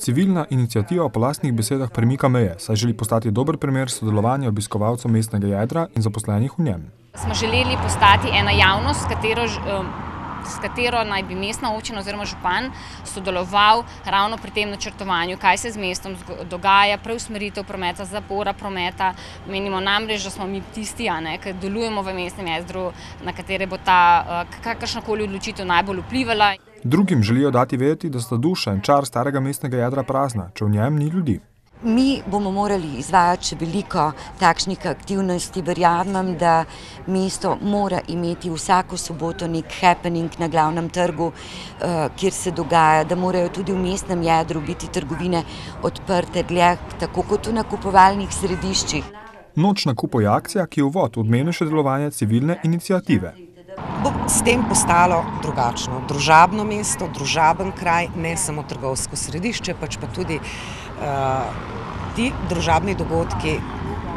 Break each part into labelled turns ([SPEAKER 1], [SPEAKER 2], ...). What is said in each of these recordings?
[SPEAKER 1] Civilna iniciativa po lastnih besedah premika meje, saj želi postati dober primer sodelovanja obiskovalcev mestnega jedra in zaposlenih v njem.
[SPEAKER 2] Smo želeli postati ena javnost, s katero naj bi mestna občina oziroma župan sodeloval ravno pri tem načrtovanju, kaj se z mestom dogaja, preusmeritev prometa, zapora prometa. Menimo namreč, da smo mi tisti, ki delujemo v mestnem jedru, na katere bo ta kakršnakoli odločitev najbolj vplivala.
[SPEAKER 1] Drugim želijo dati vedeti, da sta duša in čar starega mestnega jedra prazna, če v njem ni ljudi.
[SPEAKER 3] Mi bomo morali izvajati še veliko takšnih aktivnosti. Verjamem, da mesto mora imeti vsako soboto nek happening na glavnem trgu, kjer se dogaja, da morajo tudi v mestnem jedru biti trgovine odprte dlje, tako kot v nakupovalnih središčih.
[SPEAKER 1] Noč nakupov je akcija, ki je uvod v odmevnejše delovanje civilne iniciative.
[SPEAKER 4] Bo s tem postalo drugačno, družabno mesto, družaben kraj, ne samo trgovsko središče, pač pa tudi ti družabni dogodki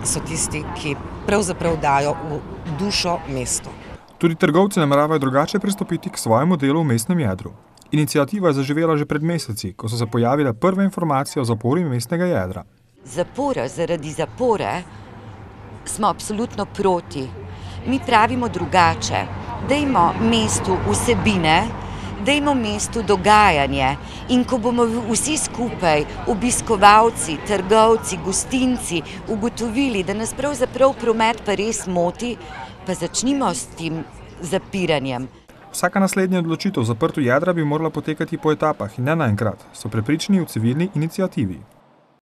[SPEAKER 4] so tisti, ki pravzaprav dajo v dušo mestu.
[SPEAKER 1] Tudi trgovci nameravajo drugače pristopiti k svojemu delu v mestnem jedru. Iniciativa je zaživela že pred meseci, ko so se pojavile prve informacije o zapori mestnega jedra.
[SPEAKER 3] Zapora zaradi zapore smo absolutno proti. Mi pravimo drugače. Dajmo mestu vsebine, dajmo mestu dogajanje in ko bomo vsi skupaj, obiskovalci, trgovci, gostinci, ugotovili, da nas pravzaprav promet pa res moti, pa začnimo s tem zapiranjem.
[SPEAKER 1] Vsaka naslednja odločitev o zaprtju jedra bi morala potekati po etapah in ne naenkrat, so prepričani v civilni iniciativi.